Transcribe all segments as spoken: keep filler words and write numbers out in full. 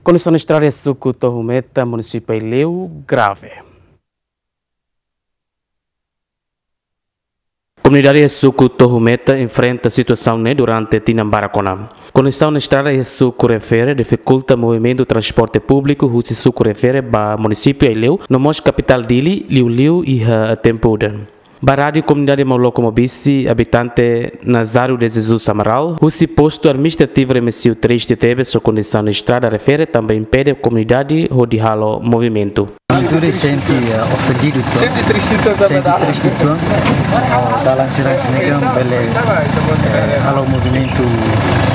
Kondisaun estrada iha suku Tohu Meta, munisípiu Aileu, grave. Komunidade iha suku Tohu Meta enfrenta situasaun ne'e durante tinan barak ona. Kondisaun estrada iha suku refere difikulta movimentu transporte públiku husi suku refere ba munisípiu Aileu, no mós kapitál Dili, liuliu iha tempu udan. Ba Rádiu Komunidade Mauloko Mobisi, abitante Nazário de Jesus Amaral, husi postu administrativu Remexio triste tebes ho kondisaun estrada refere tanba impede komunidade hodi halo movimentu. Tudo sente, eh, ofendido, tuan. Sente triste, tuan. Sente triste, tuan. Oh, dalan sira-ne'e kan bele, eh, halo movimentu,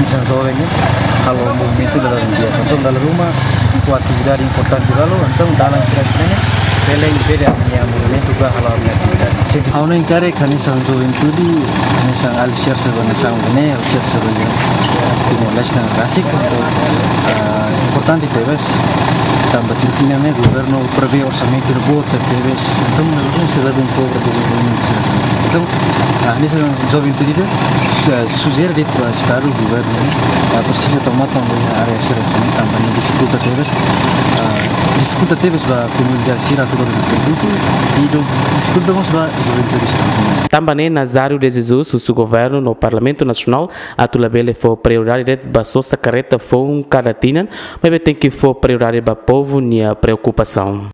misalnya joven ne'e, halo movimentu dalan dia. Entaun dala ruma, ho atividade importante dala, entaun dalan sira-ne'e bele impede ami-nia movimentu ka halo ami-nia atividade. Sente. Ha'u hanoin karik hanesan juventude, hanesan alixer seba nasaun ne'e, alixer seba ne'e, Timor-Leste ne'e rasik, entaun, ah, importante tebes, tanba Filipina ne'e governu prevee orsamentu ne'e boot tebes, entaun, ne'e sira bem pobre tebes. Entaun, ah, hanesan juventude, eh, sujere de'it ba Estadu, governu, ah, presiza toma konta área sira-ne'e, tanba ne'e difikulta tebes, ah, difikulta tebes ba komunidade sira atu ba produtu, i difikulta mós ba juventude sira. Tanba ne'e Nazário de Jesus husu governu no Parlamentu Nasionál atu labele fó prioridade de'it ba sosa karreta foun kada tinan, maibé tenke fó prioridade ba povu nia preokupasaun.